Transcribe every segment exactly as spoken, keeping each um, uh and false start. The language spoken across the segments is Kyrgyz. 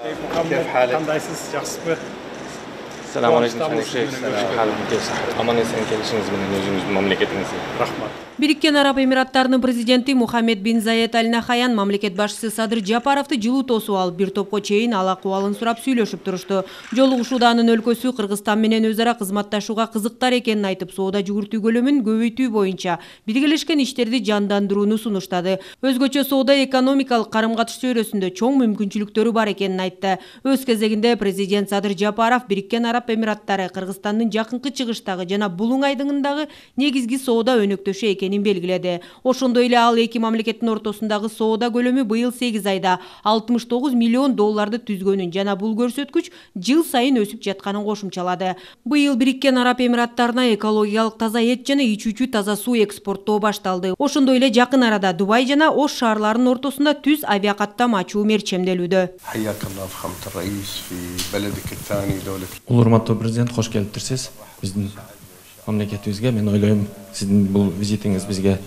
Кандайсыз, жакшысызбы? Assalamu alaikum. Аман эсен келишиңиз менен өзүңүздүн мамлекетиңизге. Рахмат. Бириккен Араб Эмираттарынын президенти Мухаммед бин Заед Аль Нахаян мамлекет башчысы Садыр Жапаровду жылуу тосуп алып, бир топко чейин ал акыбалын сурап сүйлөшүп турушту. Жолугушууда анын өлкөсү Кыргызстан менен өз ара кызматташууга кызыктар экенин айтып, соода жүгүртүү көлөмүн көбөйтүү боюнча биргелешкен иштерди жандандырууну сунуштады. Өзгөчө соода экономикалык карым-катыш чөйрөсүндө чоң мүмкүнчүлүктөрү бар экенин айтты. Өз кезегинде президент Садыр Жапаров Бириккен Араб Эмираттары Кыргызстандын жакынкы чыгыштагы жана Булуң айдыңындагы негизги соода өнөктөшү экенин белгиледи. Ошондой эле ал эки мамлекеттин ортосундагы соода көлөмү быйыл сегиз айда алтымыш тогуз миллион долларды түзгөнүн жана бул көрсөткүч жыл сайын өсүп жатканын кошумчалады. Быйыл Бириккен Араб Эмираттарына экологиялык таза эт жана ичүүчү таза суу экспорттоо башталды. Ошондой эле жакын арада Дубай жана Ош шаарларынын ортосунда түз авиакаттам ачуу мерчемделүүдө. Урматтуу президент, кош келиптирсиз. Биздин мамлекетибизге мен ойлойм, сиздин бул визитиңиз бизге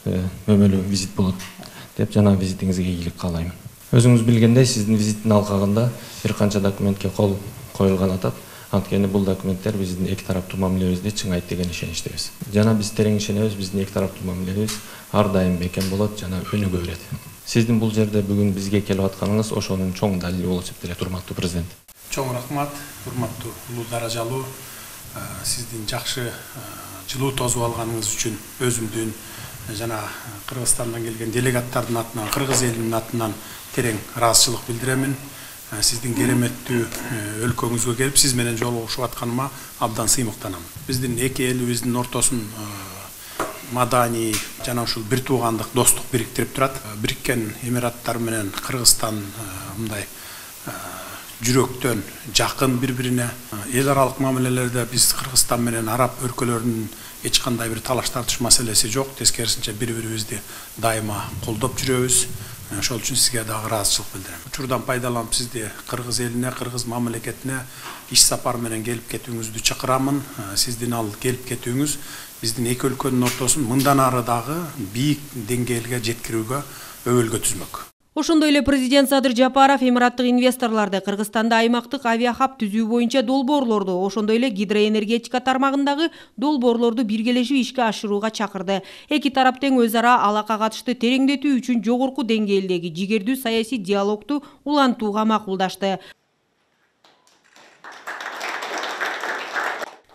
өмөлүү визит болот деп жана визитиңизге ийгилик каалайм. Өзүңүз билгендей, сиздин визиттин алкагында бир канча документке кол коюлган атат. Анткени бул документтер биздин эки тараптуу мамилебизди чыңайт деген ишеничтебиз. Жана биз терең ишенебиз, биздин эки тараптуу мамилебиз ар дайым бекем болот жана өнүгө берет. Сиздин бул жерде бүгүн бизге келип атканыңыз ошонун чоң далили болуп эсептелет, урматтуу президент. Чоң рахмат, урматтуу улуу даражалуу, сиздин жакшы жылуу тосуп алганыңыз үчүн өзүмдүн жана Кыргызстандан келген делегаттардын атынан, кыргыз элинин атынан терең ыраазычылык билдиремин. Сиздин кереметтүү өлкөңүзгө келип, сиз менен жолугушуп атканыма абдан сыймыктанам. Биздин эки элибиздин ортосун маданий жана ушул бир туугандык достук бириктирип турат. Бириккен Эмираттар менен Кыргызстан мындай жүрөктөн жакын бири-бирине. Эл аралык мамилелерде биз Кыргызстан менен араб өлкөлөрүнүн эч кандай бир талаш тартыш маселеси жок. Тескерисинче бири-бирибизди дайыма колдоп жүрөбүз. Ошол үчүн сизге дагы ыраазычылык билдирем. Учурдан пайдаланып сизди кыргыз элине, кыргыз мамлекетине иш сапар менен келип кетүүңүздү чакырамын. Сиздин ал келип кетүүңүз биздин эки өлкөнүн ортосун мындан ары дагы бийик деңгээлге жеткирүүгө өбөлгө түзмөк. Ошондой эле президент Садыр Жапаров эмираттык инвесторлорду Кыргызстанда аймактык авиахаб түзүү боюнча долбоорлорду, ошондой эле гидроэнергетика тармагындагы долбоорлорду биргелешип ишке ашырууга чакырды. Эки тарап тең өз ара алака катышты тереңдетүү үчүн жогорку деңгээлдеги жигердүү саясий диалогду улантууга макулдашты.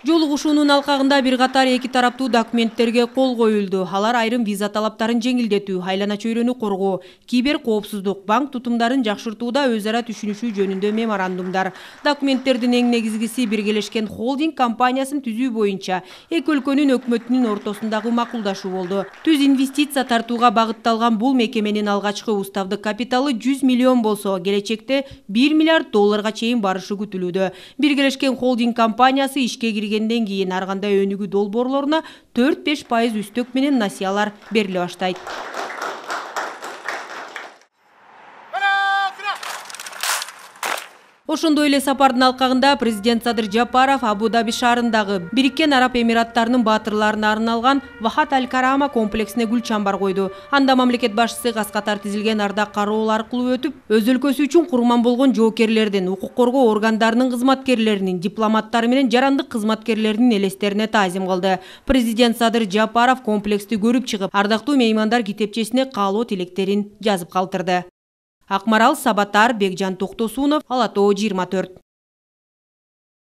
Жолугушуунун алкагында бир катар эки тараптуу документтерге кол коюлду. Алар айрым виза талаптарын жеңилдетүү, айлана чөйрөнү коргоо, кибер коопсуздук, банк тутумдарын жакшыртууда өз ара түшүнүшүү жөнүндө меморандумдар. Документтердин эң негизгиси биргелешкен холдинг компаниясын түзүү боюнча эки өлкөнүн өкмөтүнүн ортосундагы макулдашуу болду. Түз инвестиция тартууга багытталган бул мекеменин алгачкы уставдык капиталы жүз миллион болсо, келечекте бир миллиард долларга чейин барышы күтүлүүдө. Биргелешкен холдинг компаниясы ишке кирген ден кийин ар кандай өнүгүү долбоорлоруна төрт-беш пайыз үстөк менен насыялар бериле баштайт. Ошондой эле сапардын алкагында президент Садыр Жапаров Абу-Даби шаарындагы Бириккен Араб Эмираттарынын баатырларына арналган Вахат Аль-Карама комплексине гүл чамбар койду. Анда мамлекет башчысы кас катар тизилген ардак кароо аркылуу өтүп, өз өлкөсү үчүн курман болгон жоокерлердин, укук коргоо органдарынын кызматкерлеринин, дипломаттар менен жарандык кызматкерлеринин элестерине таазим кылды. Президент Садыр Жапаров комплексти көрүп чыгып, ардактуу меймандар китепчесине каалоо тилектерин жазып калтырды. Акмарал Сабатар, Бекжан Токтосунов, Ала Тоо жыйырма төрт.